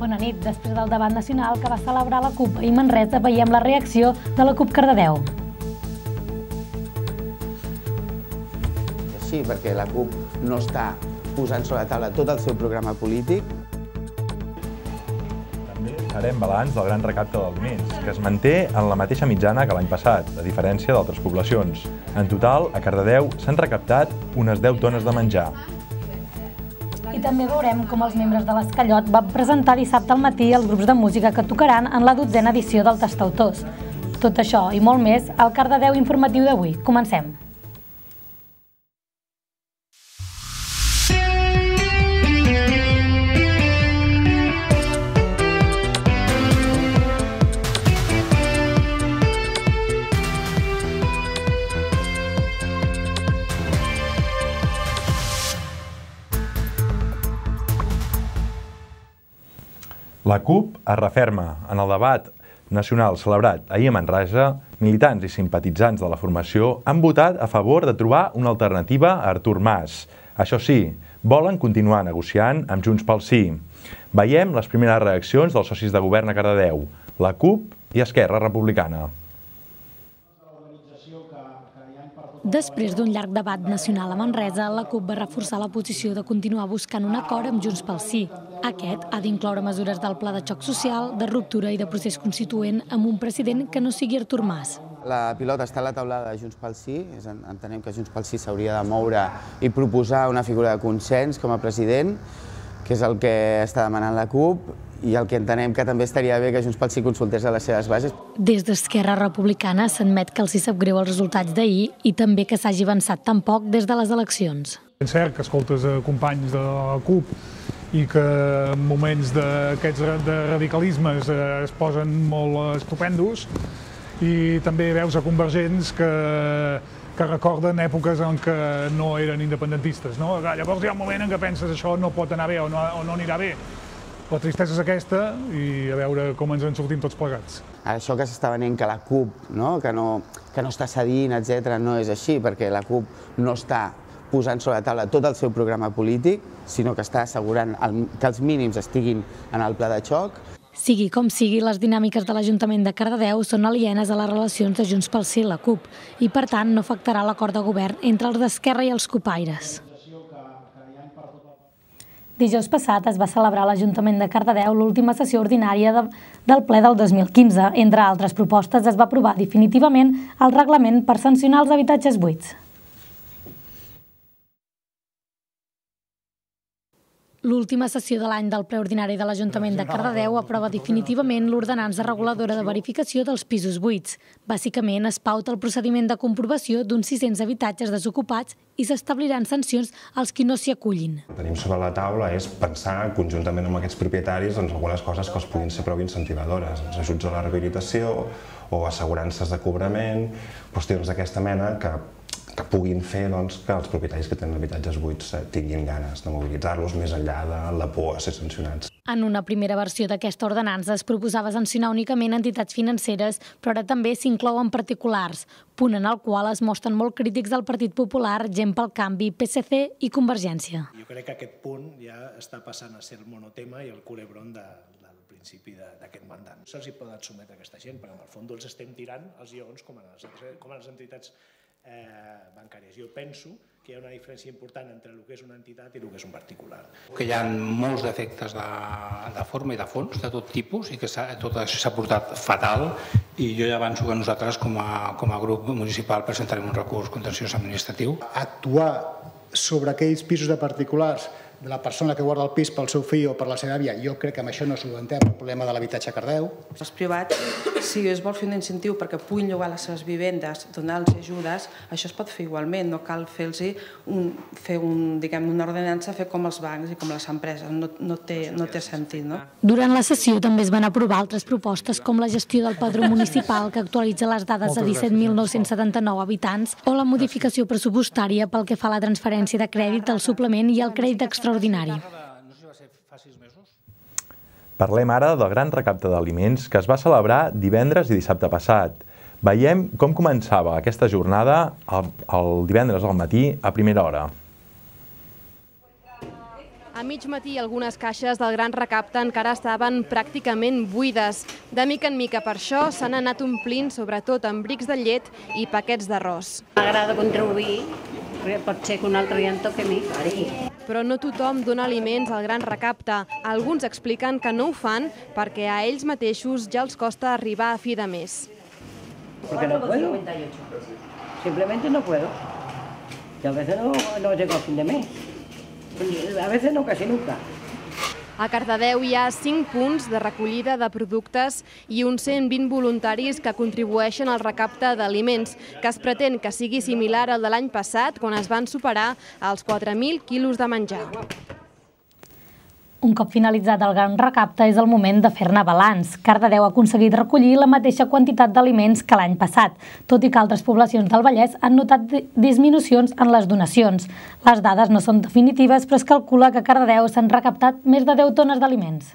Bona nit. Després del debat nacional que va celebrar la CUP i Manresa, veiem la reacció de la CUP Cardedeu. Sí, perquè la CUP no està posant sobre la taula tot el seu programa polític. També farem balanç del gran recapte d'aliments, que es manté en la mateixa mitjana que l'any passat, a diferència d'altres poblacions. En total, a Cardedeu s'han recaptat unes 10 tones de menjar. I també veurem com els membres de l'Escallot van presentar dissabte al matí els grups de música que tocaran en la 12a edició del Tastautors. Tot això i molt més al Cardedeu informatiu d'avui. Comencem. La CUP es referma. En el debat nacional celebrat ahir a Manresa, militants i simpatitzants de la formació han votat a favor de trobar una alternativa a Artur Mas. Això sí, volen continuar negociant amb Junts pel Sí. Veiem les primeres reaccions dels socis de govern a Cardedeu, la CUP i Esquerra Republicana. Després d'un llarg debat nacional a Manresa, la CUP va reforçar la posició de continuar buscant un acord amb Junts pel Sí. Aquest ha d'incloure mesures del pla de xoc social, de ruptura i de procés constituent amb un president que no sigui Artur Mas. La pilota està a la taulada de Junts pel Sí. Entenem que Junts pel Sí s'hauria de moure i proposar una figura de consens com a president, que és el que està demanant la CUP, i el que entenem que també estaria bé que Junts pel Sí consultés a les seves bases. Des d'Esquerra Republicana s'admet que els hi sap greu els resultats d'ahir i també que s'hagi avançat tan poc des de les eleccions. És cert que escoltes companys de la CUP i que en moments d'aquests de radicalismes es posen molt estupendos, i també veus a convergents que recorden èpoques en què no eren independentistes. Llavors hi ha un moment en què penses això no pot anar bé o no anirà bé. La tristesa és aquesta i a veure com ens en sortim tots plegats. Això que s'està venent que la CUP que no està cedint, etc., no és així, perquè la CUP no està posant sobre la taula tot el seu programa polític, sinó que està assegurant que els mínims estiguin en el pla de xoc. Sigui com sigui, les dinàmiques de l'Ajuntament de Cardedeu són alienes a les relacions de Junts pel Sí i la CUP i, per tant, no afectarà l'acord de govern entre els d'Esquerra i els cupaires. Dijous passat es va celebrar a l'Ajuntament de Cardedeu l'última sessió ordinària del ple del 2015. Entre altres propostes, es va aprovar definitivament el reglament per sancionar els habitatges buits. L'última sessió de l'any del ple ordinari de l'Ajuntament de Cardedeu aprova definitivament l'ordenança reguladora de verificació dels pisos buits. Bàsicament, es pauta el procediment de comprovació d'uns 600 habitatges desocupats i s'establiran sancions als qui no s'hi acullin. El que tenim sobre la taula és pensar conjuntament amb aquests propietaris algunes coses que els puguin ser prou incentivadores, els ajuts a la rehabilitació o assegurances de cobrament, qüestions d'aquesta mena que puguin fer que els propietaris que tenen habitatges buits tinguin ganes de mobilitzar-los més enllà de la por a ser sancionats. En una primera versió d'aquesta ordenança es proposava sancionar únicament entitats financeres, però ara també s'inclouen particulars, punt en el qual es mostren molt crítics del Partit Popular, Gent pel Canvi, PSC i Convergència. Jo crec que aquest punt ja està passant a ser el monotema i el culebron del principi d'aquest mandat. No se'ls poden sotmetre a aquesta gent, perquè en el fons els estem tirant els lleons com a les entitats bancàries. Jo penso que hi ha una diferència important entre el que és una entitat i el que és un particular. Que hi ha molts defectes de forma i de fons, de tot tipus, i que tot això s'ha portat fatal, i jo ja avanço que nosaltres com a grup municipal presentarem un recurs contenciós administratiu. Actuar sobre aquells pisos de particulars de la persona que guarda el pis pel seu fill o per la seva àvia, jo crec que amb això no solucionem el problema de l'habitatge a Cardedeu. Els privats, si es vol fer un incentiu perquè puguin llogar les seves vivendes, donar-los ajudes, això es pot fer igualment, no cal fer-los una ordenança, fer com els bancs i com les empreses, no té sentit. Durant la sessió també es van aprovar altres propostes com la gestió del padró municipal que actualitza les dades a 17.979 habitants o la modificació pressupostària pel que fa a la transferència de crèdit, el suplement i el crèdit extraordinari. Parlem ara del gran recapte d'aliments que es va celebrar divendres i dissabte passat. Veiem com començava aquesta jornada el divendres al matí a primera hora. A mig matí algunes caixes del Gran Recapte encara estaven pràcticament buides. De mica en mica per això s'han anat omplint sobretot amb brics de llet i paquets d'arròs. M'agrada contribuir, pot ser que un altre dia em toqui a mi. Però no tothom dona aliments al Gran Recapte. Alguns expliquen que no ho fan perquè a ells mateixos ja els costa arribar a fi de mes. Porque no puedo. Simplemente no puedo. Y a veces no llego a fin de mes. A veces no, casi nunca. A Cardedeu hi ha 5 punts de recollida de productes i uns 120 voluntaris que contribueixen al recapte d'aliments, que es pretén que sigui similar al de l'any passat, quan es van superar els 4.000 quilos de menjar. Un cop finalitzat el Gran Recapte és el moment de fer-ne balanç. Cardedeu ha aconseguit recollir la mateixa quantitat d'aliments que l'any passat, tot i que altres poblacions del Vallès han notat disminucions en les donacions. Les dades no són definitives, però es calcula que a Cardedeu s'han recaptat més de 10 tones d'aliments.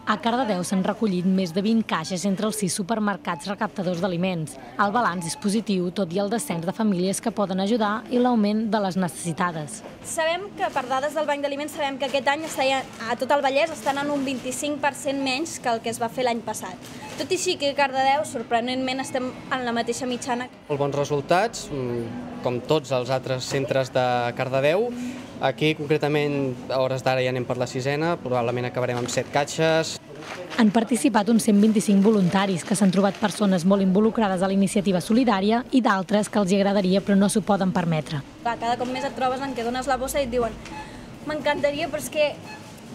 A Cardedeu s'han recollit més de 20 caixes entre els 6 supermercats recaptadors d'aliments. El balanç és positiu, tot i el descens de famílies que poden ajudar i l'augment de les necessitades. Sabem que, per dades del Banc d'Aliments, sabem que aquest any a tot el Vallès estan en un 25% menys que el que es va fer l'any passat. Tot i així que a Cardedeu, sorprenentment, estem en la mateixa mitjana. Molt bons resultats, com tots els altres centres de Cardedeu. Aquí, concretament, a hores d'ara ja anem per la 6ena, probablement acabarem amb 7 caixes. Han participat uns 125 voluntaris, que s'han trobat persones molt involucrades a la iniciativa solidària i d'altres que els agradaria però no s'ho poden permetre. Cada cop més et trobes en què dones la bossa i et diuen m'encantaria, però és que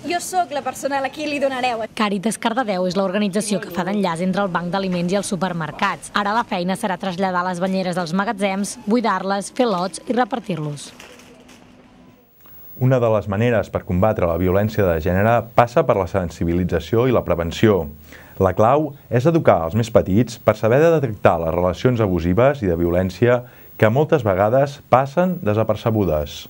jo sóc la persona a qui li donareu. Càritas Cardedeu és l'organització que fa d'enllaç entre el banc d'aliments i els supermercats. Ara la feina serà traslladar les banyeres dels magatzems, buidar-les, fer lots i repartir-los. Una de les maneres per combatre la violència de gènere passa per la sensibilització i la prevenció. La clau és educar els més petits per saber detectar les relacions abusives i de violència que moltes vegades passen desapercebudes.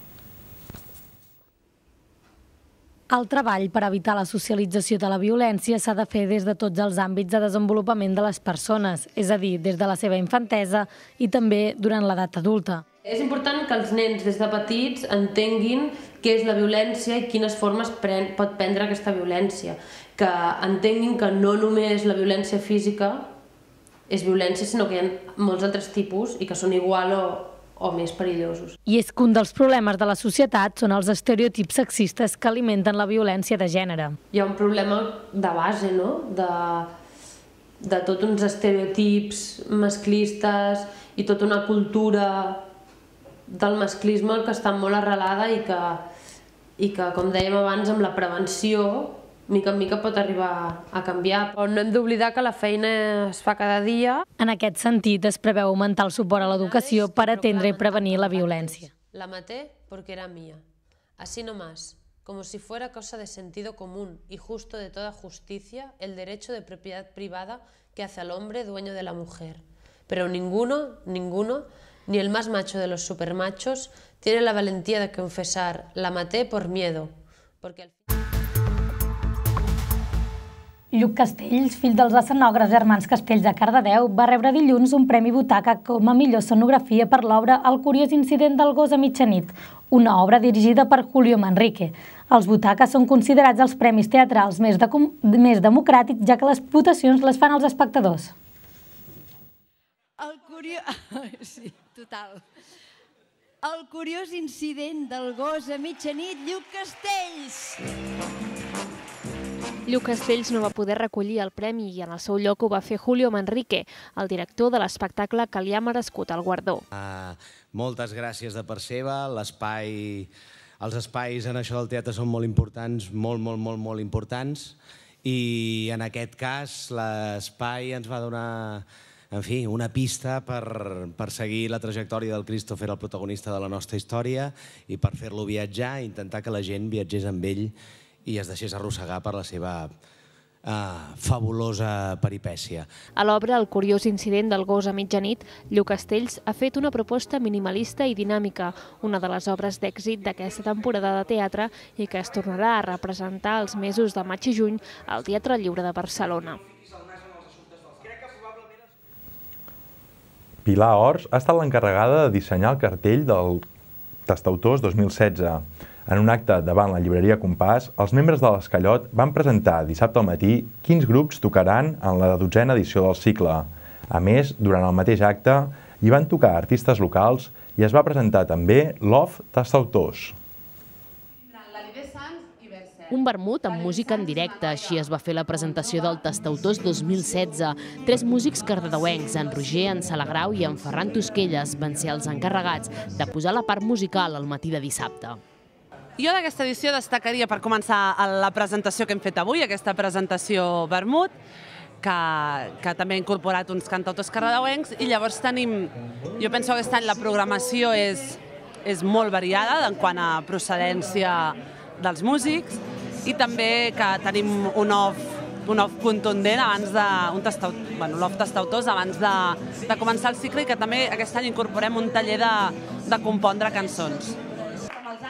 El treball per evitar la socialització de la violència s'ha de fer des de tots els àmbits de desenvolupament de les persones, és a dir, des de la seva infantesa i també durant l'edat adulta. És important que els nens des de petits entenguin què és la violència i quines formes pot prendre aquesta violència. Que entenguin que no només la violència física és violència, sinó que hi ha molts altres tipus i que són igual o més perillosos. I és que un dels problemes de la societat són els estereotips sexistes que alimenten la violència de gènere. Hi ha un problema de base, no?, de tots uns estereotips masclistes i tota una cultura del masclisme que està molt arrelada i que, com dèiem abans, amb la prevenció, mica en mica pot arribar a canviar. Però no hem d'oblidar que la feina es fa cada dia. En aquest sentit, es preveu augmentar el suport a l'educació per atendre i prevenir la violència. La maté porque era mía, así nomás, como si fuera cosa de sentido común y justo de toda justicia el derecho de propiedad privada que hace al hombre dueño de la mujer. Pero ninguno, ni el más macho de los supermachos, tiene la valentía de confesar, la maté por miedo, porque al final... Lluc Castells, fill dels escenògrafs germans Castells de Cardedeu, va rebre dilluns un premi Butaca com a millor escenografia per l'obra El curiós incident del gos a mitjanit, una obra dirigida per Julio Manrique. Els Butaca són considerats els premis teatrals més democràtics, ja que les votacions les fan els espectadors. Sí, total. El curiós incident del gos a mitjanit, Lluc Castells. Lluc Castells no va poder recollir el premi i en el seu lloc ho va fer Julio Manrique, el director de l'espectacle que li ha merescut el guardó. Moltes gràcies de part seva. Els espais en això del teatre són molt importants, molt importants, i en aquest cas l'espai ens va donar, en fi, una pista per seguir la trajectòria del Christopher, el protagonista de la nostra història, i per fer-lo viatjar, intentar que la gent viatgés amb ell i es deixés arrossegar per la seva fabulosa peripècia. A l'obra El curiós incident del gos a mitjanit, Lluc Castells ha fet una proposta minimalista i dinàmica, una de les obres d'èxit d'aquesta temporada de teatre i que es tornarà a representar els mesos de maig i juny al Teatre Lliure de Barcelona. Pilar Ors ha estat l'encarregada de dissenyar el cartell del Tastautors 2016. En un acte davant la llibreria Compàs, els membres de l'Escallot van presentar dissabte al matí quins grups tocaran en la 12a edició del cicle. A més, durant el mateix acte, hi van tocar artistes locals i es va presentar també l'Off Tastautors. Un vermut amb música en directe, així es va fer la presentació del Tastautors 2016. 3 músics cardedeuencs, en Roger, en Salagrau i en Ferran Tosquelles, van ser els encarregats de posar la part musical al matí de dissabte. Jo d'aquesta edició destacaria, per començar, la presentació que hem fet avui, aquesta presentació vermut, que també ha incorporat uns cantautors cardedeuencs, i llavors tenim, jo penso que aquest any la programació és molt variada en quant a procedència dels músics, i també que tenim un off contundent abans l'off Tastautors abans de començar el cicle, i que també aquest any incorporem un taller de compondre cançons.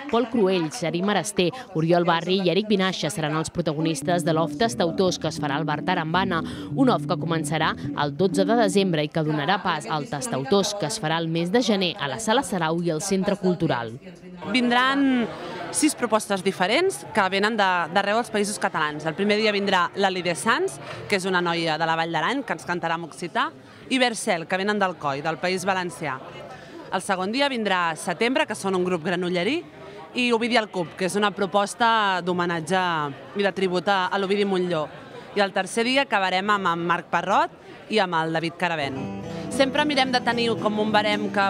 Pol Cruell, Xarí Marester, Oriol Barri i Eric Vinaixa seran els protagonistes de l'Off Tastautors que es farà al Bar Tarambana, un off que començarà el 12 de desembre i que donarà pas al Tastautors que es farà el mes de gener a la Sala Sarau i al Centre Cultural. Vindran 6 propostes diferents que venen d'arreu dels països catalans. El primer dia vindrà la Lídia Sans, que és una noia de la Vall d'Aran, que ens cantarà en occità, i Bercel, que venen del Coi, del País Valencià. El segon dia vindrà Setembre, que són un grup granollerí, i Ovidi al Cub, que és una proposta d'homenatge i de tribut a l'Ovidi Montllor. I el tercer dia acabarem amb en Marc Parrot i amb el David Caravent. Sempre mirem de tenir com un barem que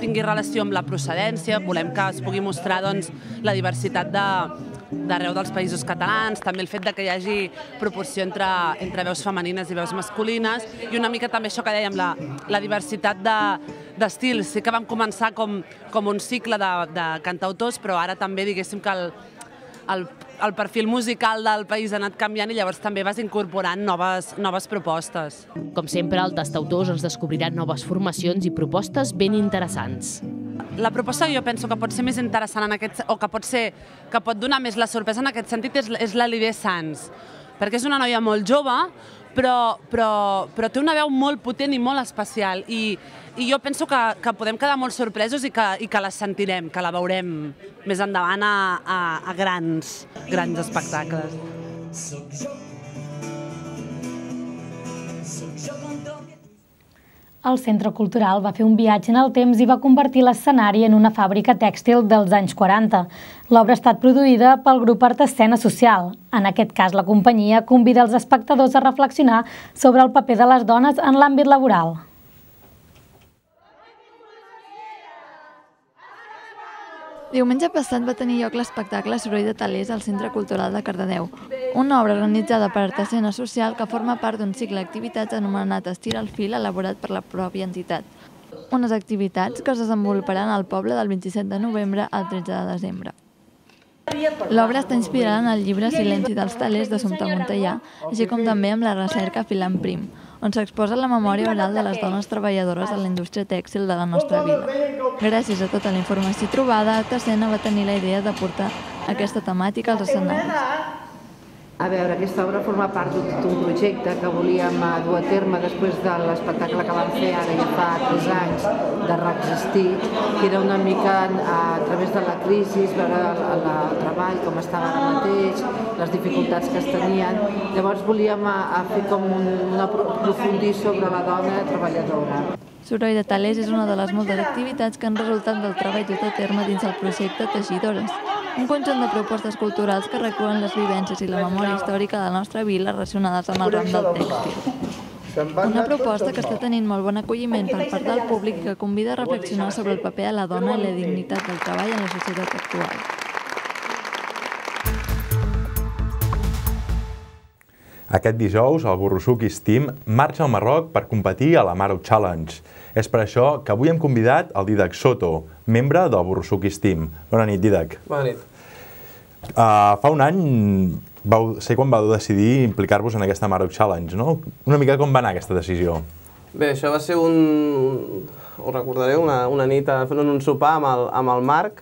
tingui relació amb la procedència, volem que es pugui mostrar la diversitat d'arreu dels països catalans, també el fet que hi hagi proporció entre veus femenines i veus masculines, i una mica també això que dèiem, la diversitat d'estils. Sí que vam començar com un cicle de cantautors, però ara també diguéssim que el perfil musical del país ha anat canviant i llavors també vas incorporant noves propostes. Com sempre, al Tastautors es descobriran noves formacions i propostes ben interessants. La proposta que jo penso que pot ser més interessant o que pot donar més la sorpresa en aquest sentit és la Lídia Sans, perquè és una noia molt jove, però té una veu molt potent i molt especial, i jo penso que podem quedar molt sorpresos i que la sentirem, que la veurem més endavant a grans espectacles. El Centre Cultural va fer un viatge en el temps i va convertir l'escenari en una fàbrica tèxtil dels anys 40. L'obra ha estat produïda pel grup Art Escena Social. En aquest cas, la companyia convida els espectadors a reflexionar sobre el paper de les dones en l'àmbit laboral. Diumenge passat va tenir lloc l'espectacle Soroll de Talers al Centre Cultural de Cardedeu, una obra organitzada per Art Escena Social que forma part d'un cicle d'activitats anomenat Estira el fil elaborat per la pròpia entitat. Unes activitats que es desenvoluparan al poble del 27 de novembre al 13 de desembre. L'obra està inspirada en el llibre Silenci dels Talers d'Assumpta Montellà, així com també amb la recerca Filant Prim, on s'exposa la memòria oral de les dones treballadores de la indústria tèxtil de la nostra vida. Gràcies a tota la informació trobada, Art Escena va tenir la idea de portar aquesta temàtica als escenaris. A veure, aquesta obra forma part d'un projecte que volíem dur a terme després de l'espectacle que vam fer ara ja fa 3 anys de Reexistir, que era una mica a través de la crisi, veure el treball com estava ara mateix, les dificultats que es tenien. Llavors volíem fer com aprofundir sobre la dona treballadora. Soroll de Talers és una de les moltes activitats que han resultat del treball dut a terme dins el projecte Teixidores, un conjunt de propostes culturals que recullen les vivències i la memòria històrica de la nostra vila relacionades amb el ram del tèxtil. Una proposta que està tenint molt bon acolliment per part del públic i que convida a reflexionar sobre el paper de la dona i la dignitat del treball en la societat actual. Aquest dijous, el Burrusuquis Team marxa al Marroc per competir a la Maroc Challenge. És per això que avui hem convidat el Dídac Soto, membre del Burrusuquis Team. Bona nit, Dídac. Bona nit. Fa un any vau ser quan vau decidir implicar-vos en aquesta Maroc Challenge, no? Una mica com va anar aquesta decisió? Bé, això va ser ho recordareu, una nit fent un sopar amb el Marc.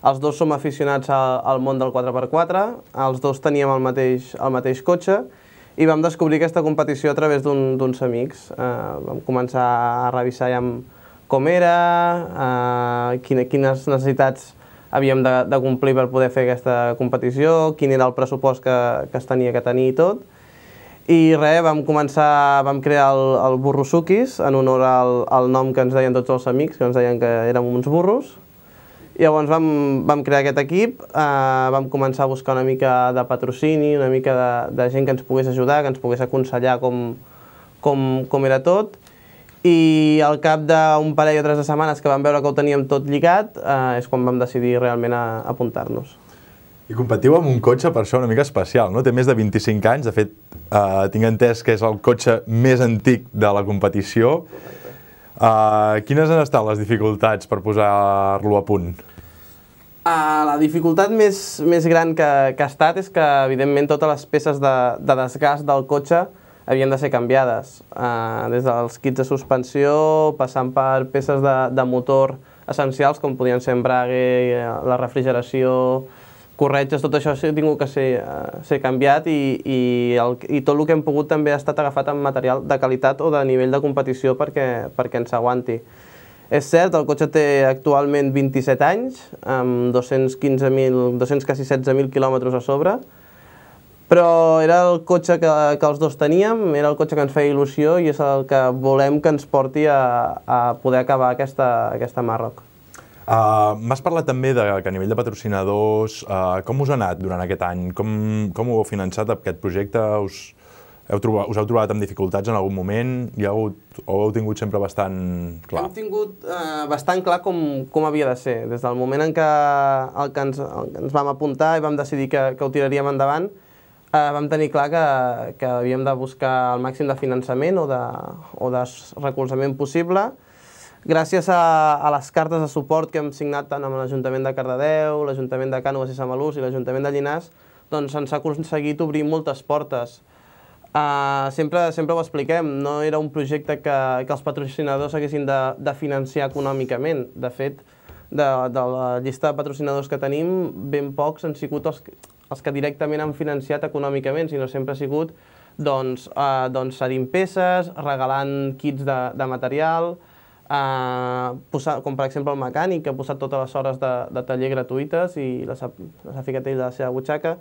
Els dos som aficionats al món del 4x4, els dos teníem el mateix cotxe, i vam descobrir aquesta competició a través d'uns amics. Vam començar a revisar ja amb com era, quines necessitats havíem de complir per poder fer aquesta competició, quin era el pressupost que es tenia que tenir i tot. I res, vam crear el Burrosukis en honor al nom que ens deien tots els amics, que ens deien que érem uns burros. I llavors vam crear aquest equip, vam començar a buscar una mica de patrocini, una mica de gent que ens pogués ajudar, que ens pogués aconsellar com era tot. I al cap d'un parell o 3 de setmanes que vam veure que ho teníem tot lligat, és quan vam decidir realment apuntar-nos. I competiu amb un cotxe, per això, una mica especial, no? Té més de 25 anys, de fet, tinc entès que és el cotxe més antic de la competició. Quines han estat les dificultats per posar-lo a punt? La dificultat més gran que ha estat és que, evidentment, totes les peces de desgast del cotxe havien de ser canviades. Des dels kits de suspensió, passant per peces de motor essencials, com podien ser embrague, la refrigeració, corretges, tot això ha tingut que ser canviat i tot el que hem pogut també ha estat agafat amb material de qualitat o de nivell de competició perquè ens aguanti. És cert, el cotxe té actualment 27 anys, amb 215.000, quasi 16.000 quilòmetres a sobre, però era el cotxe que els dos teníem, era el cotxe que ens feia il·lusió i és el que volem que ens porti a poder acabar aquesta Marroc. M'has parlat també que a nivell de patrocinadors, com us ha anat durant aquest any? Com ho heu finançat, aquest projecte? Us heu trobat amb dificultats en algun moment? O ho heu tingut sempre bastant clar? Hem tingut bastant clar com havia de ser. Des del moment en què ens vam apuntar i vam decidir que ho tiraríem endavant, vam tenir clar que havíem de buscar el màxim de finançament o de recolzament possible. Gràcies a les cartes de suport que hem signat tant amb l'Ajuntament de Cardedeu, l'Ajuntament de Cànoves i Samalús i l'Ajuntament de Llinars, doncs ens ha aconseguit obrir moltes portes. Sempre ho expliquem, no era un projecte que els patrocinadors haguessin de financiar econòmicament. De fet, de la llista de patrocinadors que tenim, ben pocs han sigut els que directament han financiat econòmicament, sinó sempre ha sigut cedint peces, regalant kits de material, com per exemple el mecànic, que ha posat totes les hores de taller gratuïtes i les ha ficat ell de la seva butxaca.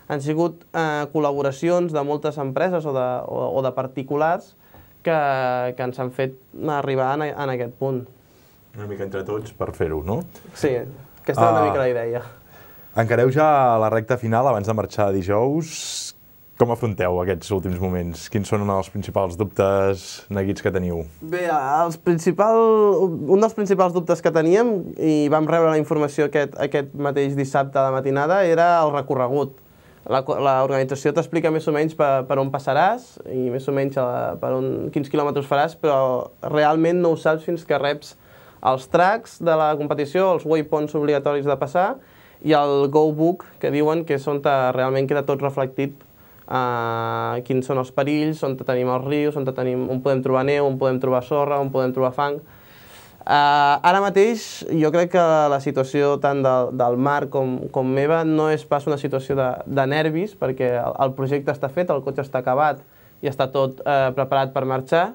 Han sigut col·laboracions de moltes empreses o de particulars que ens han fet arribar en aquest punt. Una mica entre tots per fer-ho, no? Sí, aquesta és una mica la idea. Encareu ja la recta final abans de marxar dijous. Com afronteu aquests últims moments? Quins són els principals dubtes, neguits que teniu? Bé, un dels principals dubtes que teníem, i vam rebre la informació aquest mateix dissabte de matinada, era el recorregut. L'organització t'explica més o menys per on passaràs i més o menys quins quilòmetres faràs, però realment no ho saps fins que reps els tracks de la competició, els waypoints obligatoris de passar i el Go Book, que diuen que és on realment queda tot reflectit quins són els perills, on tenim els rius, on podem trobar neu, on podem trobar sorra, on podem trobar fang. Ara mateix jo crec que la situació tant del Marc com meva no és pas una situació de nervis, perquè el projecte està fet, el cotxe està acabat i està tot preparat per marxar,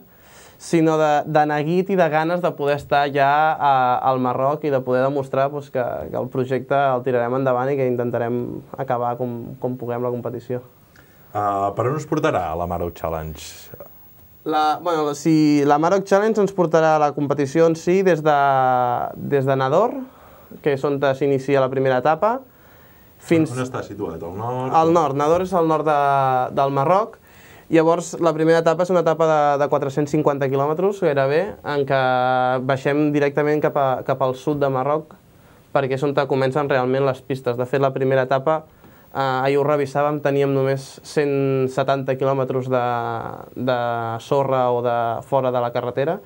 sinó de neguit i de ganes de poder estar ja al Marroc i de poder demostrar que el projecte el tirarem endavant i que intentarem acabar com puguem la competició. Per on us portarà la Marroc Challenge? La Marroc Challenge ens portarà a la competició en si des de Nador, que és on s'inicia la primera etapa. On està situat? Al nord? Al nord. Nador és al nord del Marroc. Llavors, la primera etapa és una etapa de 450 quilòmetres, gairebé, en què baixem directament cap al sud de Marroc, perquè és on comencen realment les pistes. De fet, la primera etapa, ahir ho revisàvem, teníem només 170 quilòmetres de sorra o de fora de la carretera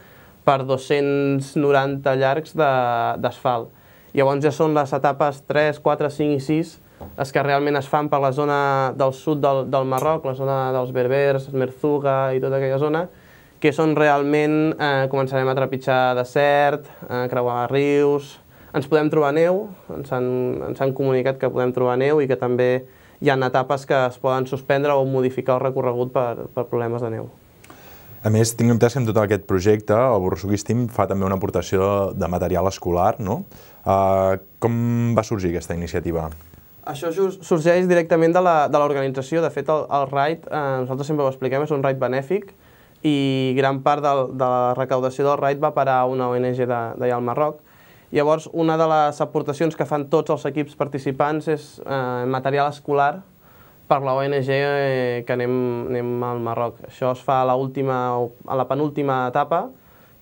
per 290 llargs d'asfalt. Llavors ja són les etapes 3, 4, 5 i 6 les que realment es fan per la zona del sud del Marroc, la zona dels Berbers, Merzuga i tota aquella zona, que és on realment començarem a trepitjar desert, creuar rius. Ens podem trobar neu, ens han comunicat que podem trobar neu i que també hi ha etapes que es poden suspendre o modificar el recorregut per problemes de neu. A més, tinc entès que en tot aquest projecte el Borrassuquis Team fa també una aportació de material escolar, no? Com va sorgir aquesta iniciativa? Això sorgeix directament de l'organització. De fet, el RAID, nosaltres sempre ho expliquem, és un RAID benèfic i gran part de la recaudació del RAID va parar a una ONG d'allà al Marroc. Llavors, una de les aportacions que fan tots els equips participants és material escolar per la ONG que anem al Marroc. Això es fa a la penúltima etapa,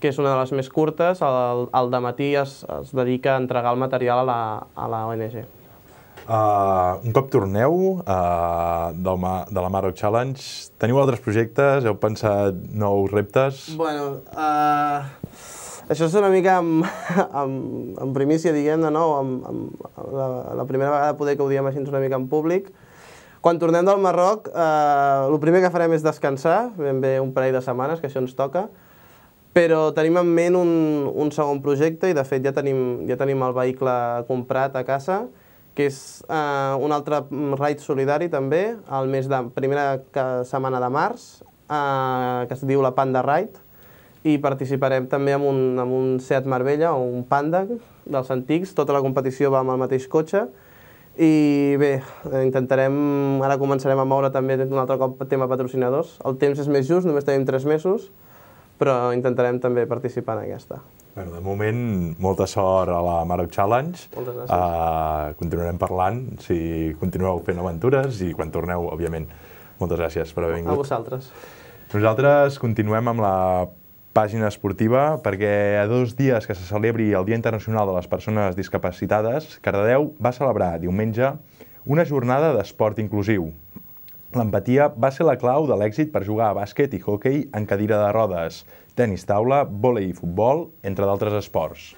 que és una de les més curtes. Al dematí es dedica a entregar el material a la ONG. Un cop torneu de la Maroc Challenge, teniu altres projectes? Heu pensat nous reptes? Bueno, això és una mica en primícia, diguem-ne, no? La primera vegada poder que ho diem així una mica en públic. Quan tornem del Marroc, el primer que farem és descansar, ben bé un parell de setmanes, que això ens toca, però tenim en ment un segon projecte i de fet ja tenim el vehicle comprat a casa, que és un altre raid solidari també, primera setmana de març, que es diu la Panda Ride, i participarem també amb un Seat Marbella o un Panda dels antics. Tota la competició va amb el mateix cotxe i bé, ara començarem a moure també un altre cop tema patrocinadors. El temps és més just, només tenim 3 mesos, però intentarem també participar en aquesta. Bueno, de moment, molta sort a la Maroc Challenge. Moltes gràcies. Continuarem parlant, si continueu fent aventures i quan torneu, òbviament. Moltes gràcies per haver vingut. A vosaltres. Nosaltres continuem amb la pàgina esportiva perquè a 2 dies que se celebri el Dia Internacional de les Persones Discapacitades, Cardedeu va celebrar diumenge una jornada d'esport inclusiu. L'empatia va ser la clau de l'èxit per jugar a bàsquet i hoquei en cadira de rodes, tenis taula, vòlei i futbol, entre d'altres esports.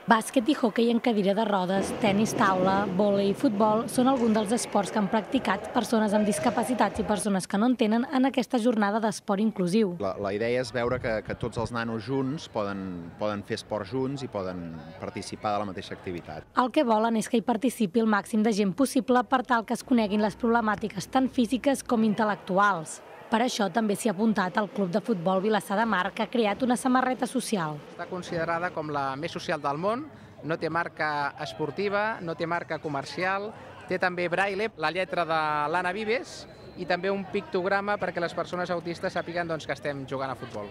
Bàsquet i hoquei en cadira de rodes, tenis taula, vòlei i futbol són alguns dels esports que han practicat persones amb discapacitats i persones que no en tenen en aquesta jornada d'esport inclusiu. La idea és veure que tots els nanos junts poden fer esport junts i poden participar de la mateixa activitat. El que volen és que hi participi el màxim de gent possible per tal que es coneguin les problemàtiques tant físiques com intel·lectuals. Per això també s'hi ha apuntat el Club de Futbol Vilassar de Mar, que ha creat una samarreta social. Està considerada com la més social del món, no té marca esportiva, no té marca comercial, té també braille, la lletra de l'Anna Vives i també un pictograma perquè les persones autistes sàpiguen que estem jugant a futbol.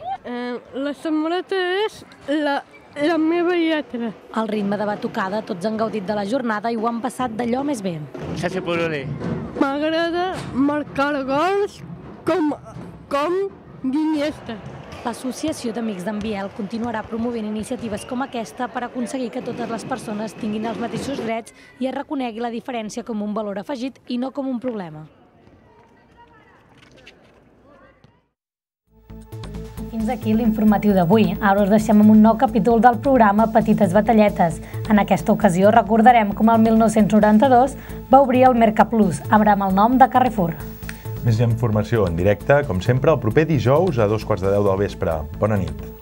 La samarreta és la meva lletra. Al ritme de batucada, tots han gaudit de la jornada i ho han passat d'allò més bé. M'agrada marcar gols com Iniesta. L'Associació d'Amics d'en Biel continuarà promovent iniciatives com aquesta per aconseguir que totes les persones tinguin els mateixos drets i es reconegui la diferència com un valor afegit i no com un problema. Fins aquí l'informatiu d'avui. Ara us deixem amb un nou capítol del programa Petites Batalletes. En aquesta ocasió recordarem com el 1992 va obrir el Mercaplus, ara amb el nom de Carrefour. Més informació en directe, com sempre, el proper dijous a 2:15 del vespre. Bona nit.